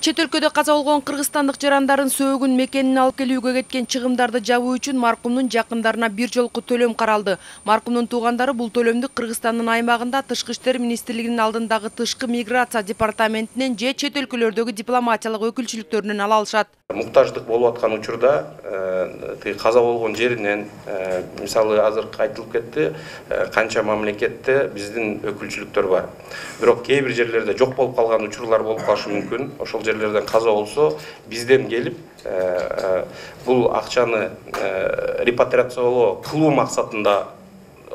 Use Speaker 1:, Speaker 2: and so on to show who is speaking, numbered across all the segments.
Speaker 1: Чет өлкөдө каза болгон кыргызстандык жарандардын сөөгүн мекенине алып келүүгө кеткен чыгымдарды жабуу үчүн маркумдун жакындарына бир жолку төлөм каралды. Маркумдун туугандары бул төлөмдү Кыргызстандын аймагында Тышкы иштер министрлигинин алдындагы тышкы миграция департаментинен же чет өлкөлөрдөгү дипломатиялык өкүлчүлүктөрүнөн ала алышат.
Speaker 2: Муктаждык болуп аткан учурда каза болгон жеринен мисалы азыр айтылып кетти, канча мамлекетте биздин өкүлчүлүктөр бар. Бирок кээ бир жерлерде жок болуп калган учурлар болуп калышы мүмкүн. Ошол жерлерден каза болсо, бизден келип бул акчаны репатриациялоо кылуу максатында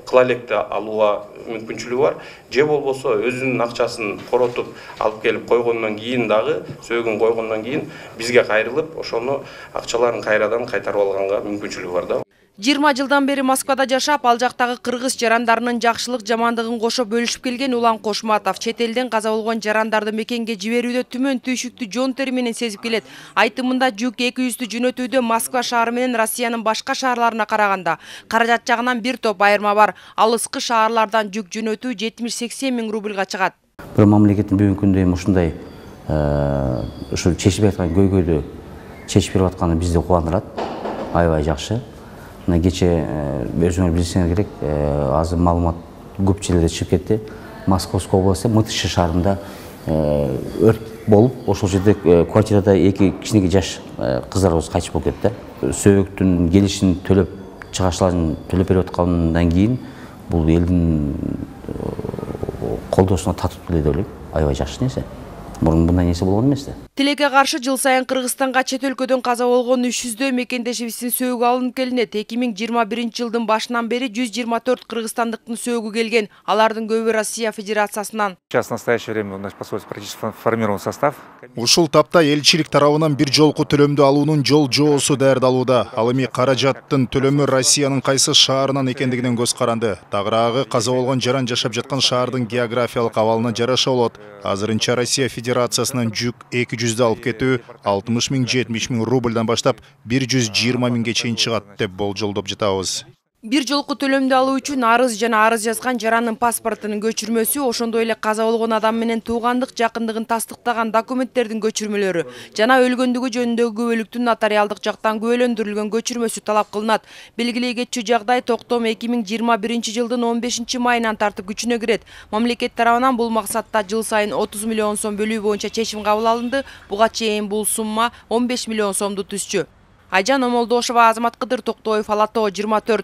Speaker 2: кыла электи алууга мүмкүнчүлүгү бар. Же болбосо өзүнүн акчасын коротуп алып келип койгондон кийин дагы сөөгүн койгондон кийин бизге кайрылып, ошону акчаларын кайрадан кайтарып алганга мүмкүнчүлүгү бар да.
Speaker 1: 20 жылдан бери Москвада жашап, ал жактагы кыргыз жарандарынын жакшылык жамандыгын кошо бөлүшүп келген Улан Кошматов чет элден каза болгон жарандарды мекенге жиберүүдө түмөн түйшүктү жон тери менен сезип келет. Айтымында жүк 200 жөнөтүүдө Москва шаары менен Россиянын башка шаарларына караганда каражат жагынан бир топ айырма бар. Алыскы шаарлардан жүк жөнөтүү 70-80 миң рубльга чыгат.
Speaker 3: Бир мамлекеттин бүгүнкү күндө ушундай ушу чечип аткан көйгөйдү чечип берип атканы бизди кубандырат. Аябай жакшы. Кече өзүңөр билсеңер керек, азыр маалымат көп жерлерде чыгып кетти. Московской областы Мытышы шаарында өрт болуп, ошол жерде квартирада эки кичинекей жаш кыздарыбыз кайтыш болуп кетти. Сөөгүттүн келишин төлөп, чыгашчыларын төлөп берип аткандан кийин бул элдин колдоосуна татып келе деп ойлойм. Аябай жакшы нерсе. Мурун мындай нерсе болгон эмес да.
Speaker 1: Тилекке каршы жыл сайын Кыргызстанга чет өлкөдөн каза болгон 300 мекендешибиздин сөөгү алынып келинет. 2021 жылдын башынан бери 124 кыргызстандыктын сөөгү келген. Алардын көбү Россия Федерациясынан.
Speaker 4: Сейчас в настоящее время у нас посольство практически формирован состав.
Speaker 5: Ушул тапта элчилик тарабынан бир жолку төлөмдү алуунун жол жоосу даярдалууда. Ал эми каражаттын төлөмү Россиянын кайсы шаарынан экендигинен көз каранды. Тагыраагы каза болгон жаран жашап жаткан шаардын географиялык абалына жараша болот. Азырынча Россия Федерациясынан жүк 200 алып кетүү 60 миң 70 миң рубльдан баштап 120 миңге чейин чыгат деп болжолдоп жатабыз.
Speaker 1: Бир жолку төлөмдү алуу үчүн арыз жана арыз жазган жарандын паспортунун көчүрмөсү, ошондой эле каза болгон адам менен туугандык жакындыгын тастыктаган документтердин көчүрмөлөрү жана өлгөндүгү жөнүндөгү күбөлүктүн нотариалдык жактан күбөлөндүрүлгөн көчүрмөсү талап кылынат. Белгилей кетчү жагдай токтом 2021 жылдын 15 майынан тартып күчүнө кирет. Мамлекет тарабынан бул максатта жыл сайын 30 миллион сом бөлүү боюнча чечим кабыл алынды. Буга чейин бул сумма 15 миллион сомду түзчү. Айжан Омолдошова, Азамат Кыдыр Токтобоев, Ала Тоо 24.